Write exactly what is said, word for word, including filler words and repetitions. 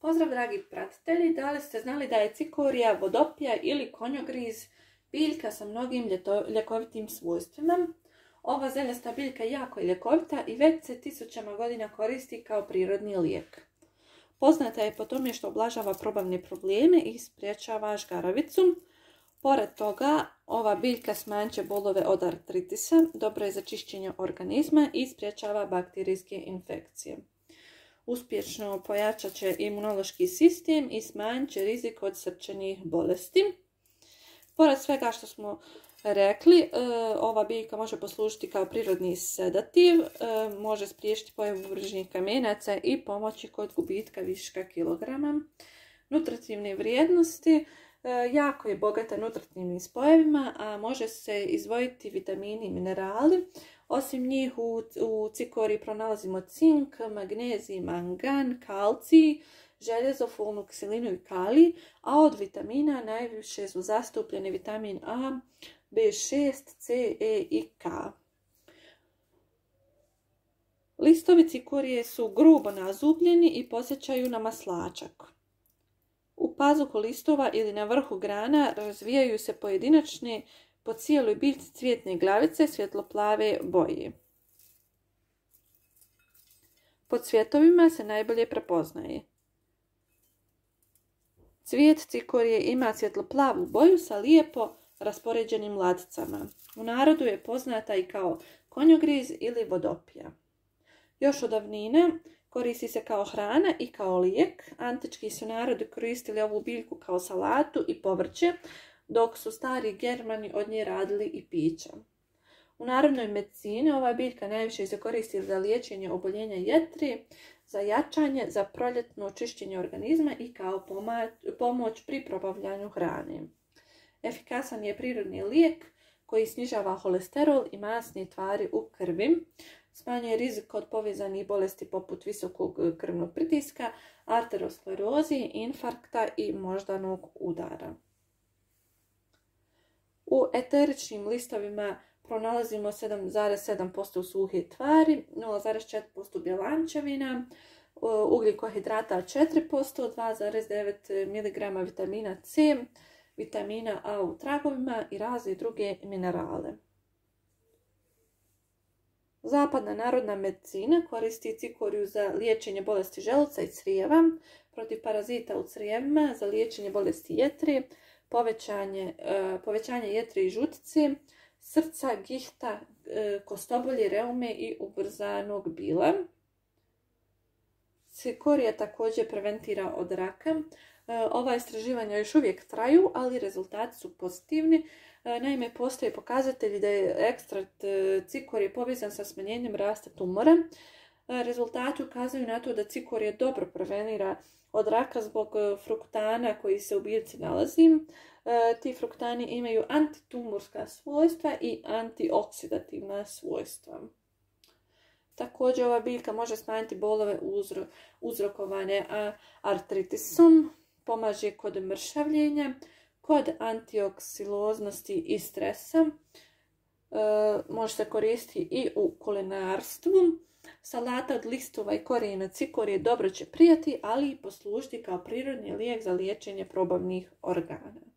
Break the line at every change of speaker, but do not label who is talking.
Pozdrav dragi pratitelji, da li ste znali da je cikorija, vodopija ili konjogriz biljka sa mnogim ljeto, ljekovitim svojstvima? Ova zeljasta biljka je jako ljekovita i već se tisućama godina koristi kao prirodni lijek. Poznata je po tome što ublažava probavne probleme i sprječava žgaravicu. Pored toga, ova biljka smanjit će bolove od artritisa, dobro je za čišćenje organizma i sprječava bakterijske infekcije. Uspješno pojačat će imunološki sistem i smanjit će rizik od srčanih bolesti. Pored svega što smo rekli, ova biljka može poslužiti kao prirodni sedativ, može spriječiti pojavu vrućih kamenaca i pomoći kod gubitka viška kilograma. Nutritivne vrijednosti, jako je bogata nutritivnim spojevima, a može se izdvojiti vitamini i minerali. Osim njih u, u cikoriji pronalazimo cink, magnezij, mangan, kalcij, željezo, folnu kiselinu i kalij, a od vitamina najviše su zastupljeni vitamin A, B šest, C, E i K. Listovi cikorije su grubo nazubljeni i podsjećaju na maslačak. U pazuhu listova ili na vrhu grana razvijaju se pojedinačne po cijeloj biljci cvjetne glavice svjetloplave boje. Po cvjetovima se najbolje prepoznaje. Cvijet cikorije ima svjetloplavu boju sa lijepo raspoređenim laticama. U narodu je poznata i kao konjogriz ili vodopija. Još od davnina koristi se kao hrana i kao lijek. Antički su narodi koristili ovu biljku kao salatu i povrće, dok su stari Germani od nje radili i pića. U narodnoj medicini ova biljka najviše se koristi za liječenje oboljenja jetre, za jačanje, za proljetno čišćenje organizma i kao pomoć pri probavljanju hrane. Efikasan je prirodni lijek koji snižava holesterol i masne tvari u krvi, smanjuje rizik od povezanih bolesti poput visokog krvnog pritiska, arteriosklerozi, infarkta i moždanog udara. U eteričnim listovima pronalazimo sedam zarez sedam posto suhe tvari, nula zarez četiri posto bjelančevina, ugljikohidrata četiri posto, dva zarez devet miligrama vitamina C, vitamina A u tragovima i razne druge minerale. Zapadna narodna medicina koristi cikoriju za liječenje bolesti želuca i crijeva, protiv parazita u crijevima, za liječenje bolesti jetre, povećanje, povećanje jetre i žutice, srca, gihta, kostobolje, reume i ubrzanog bila. Cikorija također preventira od raka. Ova istraživanja još uvijek traju, ali rezultati su pozitivni. Naime, postoje pokazatelji da je ekstrakt cikorije povezan sa smanjenjem rasta tumora. Rezultati ukazuju na to da cikorija dobro prevenira od raka zbog fruktana koji se u biljci nalazi. Ti fruktani imaju antitumorska svojstva i antioksidativna svojstva. Također ova biljka može smanjiti bolove uzro, uzrokovane artritisom, pomaže kod mršavljenja, kod antioksiloznosti i stresa. E, može se koristiti i u kulinarstvu. Salata od listova i korijena cikorije dobro će prijati, ali i poslužiti kao prirodni lijek za liječenje probavnih organa.